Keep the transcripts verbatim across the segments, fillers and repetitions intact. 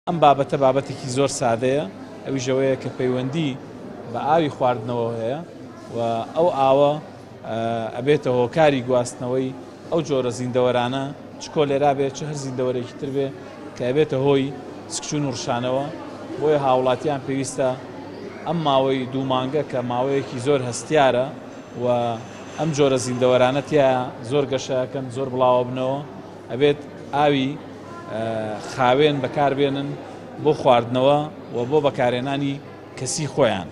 ئەم بابەتە بابەتێکی زۆر سادەیە، ئەویش ئەوەیە کە پەیوەندی بە ئاوی خواردنەوە هەیە و ئەو ئاوە ئەبێتە هۆکاری گواستنەوەی ئەو جۆرە زیندەوەرانە، چ کۆلێرا بێت چ هەر زیندەوەرێکی تر بێ کە ئەبێتە هۆی سکچوون و ڕشانەوە. بۆیە هاوڵاتیان پێویستە ئەم ماوەی دوو مانگە کە ماوەیەکی زۆر هەستیارە و ئەم جۆرە زیندەوەرانە تیا زۆر گەشەکەن، زۆر بڵاوە بنەوە، ئەبێت ئاوی خاوێن بەکاربێنن بۆ خواردنەوە و بۆ بەکارهێنانی کەسی خۆیان،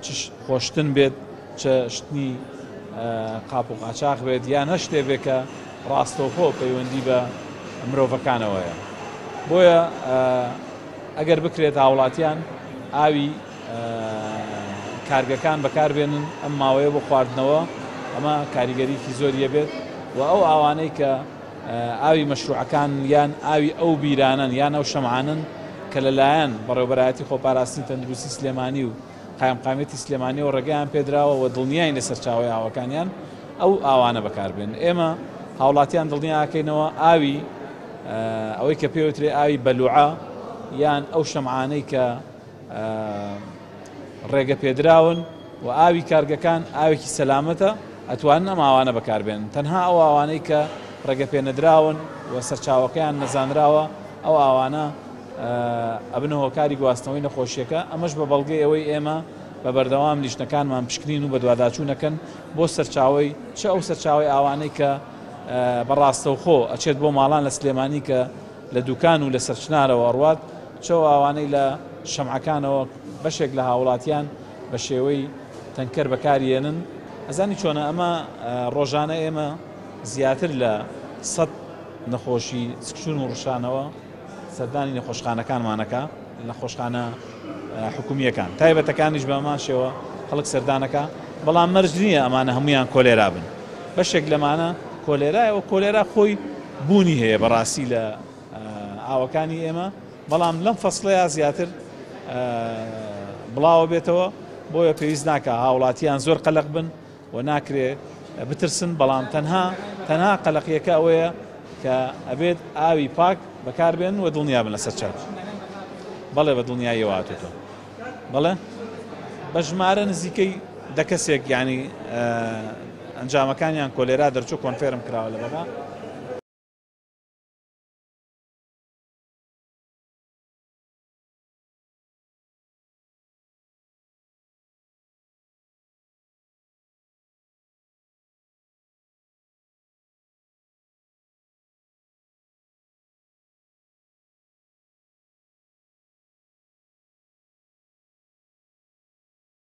چ خۆشتن بێت، چ شتنی قاپ و قاچاخ بێت، یان هەر شتێ بێت کە ڕاستەوخۆ پەیوەندی بە مرۆڤەکانەوەیە. بۆیە ئەگەر بکرێت هاوڵاتیان ئاوی کارگەکان بەکاربێنن ئەم ماوەیە بۆ خواردنەوە، ئەمە کاریگەریکی زۆریە بێت. و ئەو ئاوانەی کە ئاوی مەشروعەکان یان ئاوی ئەو بیرانن یان ئەو شەمعانن کە لەلایەن بەڕێوەبەرایەتی خۆپاراستنی تەندروستی سلێمانی و قایمقامیەتی سلێمانیەوە ڕێگەیان پێدراوە و دڵنیای لە سەرچاوەی ئاوەکانیان، ئەو ئاوانە بەکاربێن. ئێمە هاوڵاتیان دڵنیاکەینەوە ئاوی ئەوەی کە پێوترێ ئاوی بەلوعە یان ئەو شەمعانەی کە ڕێگە پێدراون و ئاوی کارگەکان ئاوێکی سەلامەتە، ئەتوانن ئەم ئاوانە بەکاربێن. تەنها ئەو ئاوانەی کە ڕێگە پێنەدراون و سەرچاوەکەیان نەزانراوە، ئەو ئاوانە ئەبنە هۆکاری گواستنەوەی نەخۆشیەکە. ئەمەش بە بەڵگەی ئەوەی ئێمە بە بەردەوام لیژنەکانمان پشکنین و بەدواداچوونەکەن بۆ سەرچاوەی چ ئەو سەرچاوەی ئاوانەی کە بەڕاستەوخۆ ئەچێت بۆ ماڵان لە سلێمانی کە لە دوکان و لە سەرچنارەوە ئەڕوات، چ ئەو ئاوانەی لە شەمعەکانەوە بەشێک لە هاوڵاتیان بە شێوەی تەنکەر بەکاریێنن. ئەزانی چۆنە ئەمە ڕۆژانە ئێمە زیاتر لە سەد نەخۆشی سکچوون و ڕشانەوە سەردانی نەخۆشخانەکانمانەکە، نەخۆشخانە حکومیەکان تایبەتەکانیش بەمان شێوە خەڵک سەردانەکە، بەڵام مەرج نییە ئەمانە هەمویان کۆلێرا بن. بەشێک لەمانە کۆلێرایە و کۆلێرا خۆی بوونی هەیە بەڕاستی لە ئاوەکانی ئێمە، بەڵام لەم فەسڵەیە زیاتر بڵاوە بێتەوە. بۆیە پێویست ناکە هاوڵاتیان زۆر قەلەق بن و ناکرێ بترسن، بەڵام تەنها تەنها قەلەقیەکە ئەوەیە کە ئەبێت ئاوی پاک بەکاربێن و دڵنیا بن لەسەر چاو. بەڵێ بە دڵنیاییەوە هاتووتەوە. بەڵێ بە ژمارە نزیکەی دە کەسێک یعنی ئەنجامەکانیان کۆلێرا دەرچوو، confirm کراوە لە بەغا.